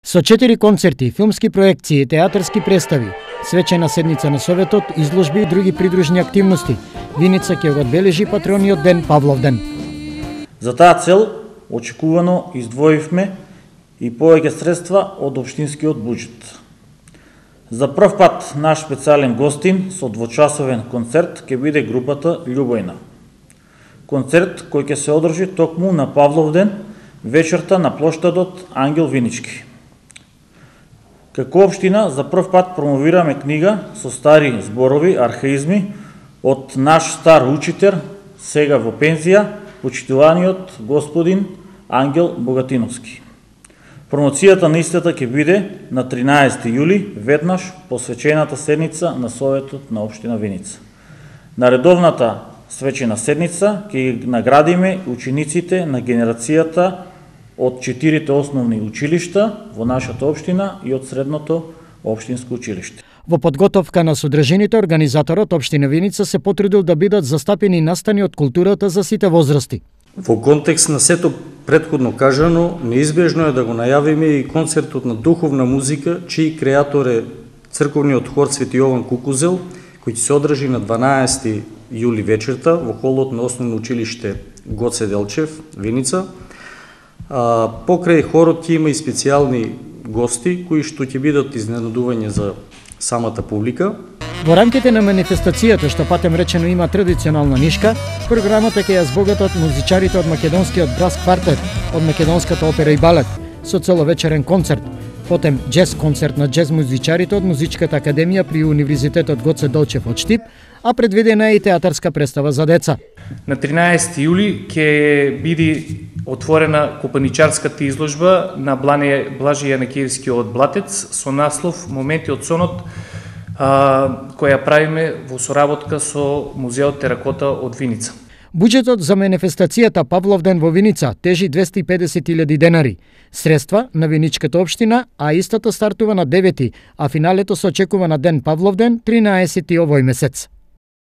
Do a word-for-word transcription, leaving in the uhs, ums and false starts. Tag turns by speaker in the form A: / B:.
A: Со четири концерти, филмски проекции и театарски представи, свечена седница на Советот, изложби и други придружни активности, Виница ќе го одбележи патрониот ден Павловден.
B: За таа цел очекувано издвоивме и повеќе средства од општинскиот буџет. За прв пат наш специјален гостин со двочасовен концерт ќе биде групата Љубојна. Концерт кој ќе се одржи токму на Павловден, вечерта на плоштадот Ангел Винички. Како општина за прв пат промовираме книга со стари зборови, архаизми од наш стар учител, сега во пензија, почитуваниот господин Ангел Богатиновски. Промоцијата на истата ќе биде на тринаесети јули, веднаш посвечената седница на Советот на општина Виница. На редовната свечена седница ќе наградиме учениците на генерацијата од четирите основни училишта во нашата општина и од средното општинско училиште.
A: Во подготовка на содржините, организаторот општина Виница се потрудил да бидат застапени настани од културата за сите возрасти.
C: Во контекст на сето претходно кажано, неизбежно е да го најавиме и концертот на духовна музика, чиј креатор е црковниот хор Свети Јован Кукузел, кој ќе се одржи на дванаесети јули вечерта во холот на Основно училиште Гоце Делчев, Виница. А, покрај хорот ќе има и специјални гости кои што ќе бидат изненадување за самата публика.
A: Во рамките на манифестацијата, што патем речено има традиционална нишка, програмата ќе ја збогатат музичарите од македонскиот брас квартет, од македонската опера и балет, со целовечерен концерт, потем джез концерт на джез музичарите од Музичката академија при Универзитетот Гоце Делчев од Штип, а предвидена е и театарска представа за деца.
D: На тринаесети јули ќе биде отворена копаничарската изложба на Блаже Јанакиевскиот Блатец со наслов Моменти од сонот, а, која правиме во соработка со Музеот Теракота од Виница.
A: Буџетот за манифестацијата Павловден во Виница тежи двесте и педесет илјади денари. Средства на Виничката општина, а истата стартува на девети, а финалето се очекува на ден Павловден, тринаесети овој месец.